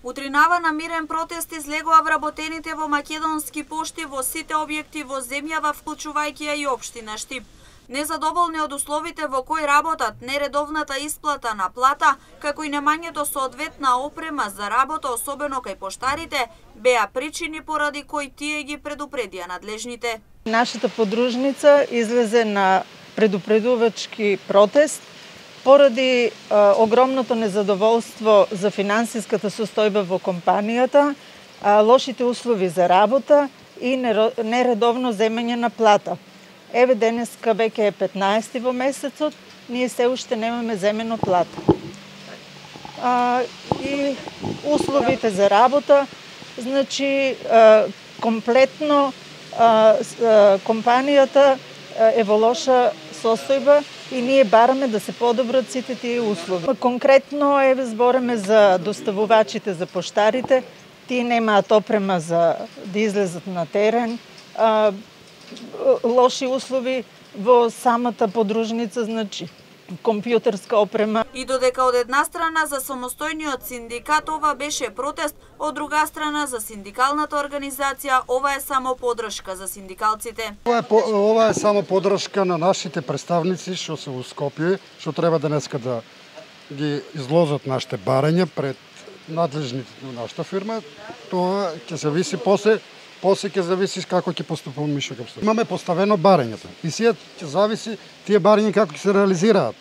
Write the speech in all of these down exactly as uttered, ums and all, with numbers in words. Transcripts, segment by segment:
Утринава на мирен протест излегоа вработените во македонски пошти во сите објекти во земјава, вклучувајќи ја и општина Штип. Незадоволни од условите во кои работат, нередовната исплата на плата, како и немањето соодветна опрема за работа, особено кај поштарите, беа причини поради кои тие ги предупредија надлежните. Нашата подружница излезе на предупредувачки протест поради а, огромното незадоволство за финансиската состојба во компанијата, а, лошите услови за работа и нередовно земање на плата. Еве денеска веќе е петнаесети во месецот, ние се уште немаме земено плата. А, и условите за работа, значи а, комплетно а, а, компанијата е во лоша состојба и ние бараме да се подобрат сите тие услови. Конкретно еве збореме за доставувачите, за поштарите, тие немаат опрема за да излезат на терен, а, лоши услови во самата подружница, значи компјутерска опрема. И додека од една страна за самостојниот синдикат ова беше протест, од друга страна за синдикалната организација ова е само подршка за синдикалците. Ова е, ова е само подршка на нашите представници што се во Скопје, што треба денеска да ги изложат нашите барања пред надлежните на нашата фирма. Тоа ќе се виси после После ќе зависи како ќе поступуваме ми што ќе Имаме поставено барањето и сега ќе зависи тие барања како ќе се реализираат.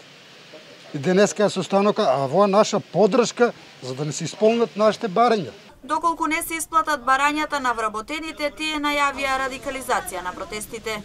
И денеска е состанока, а во наша подршка за да не се исполнат нашите барања. Доколку не се исплатат барањата на вработените, тие најавија радикализација на протестите.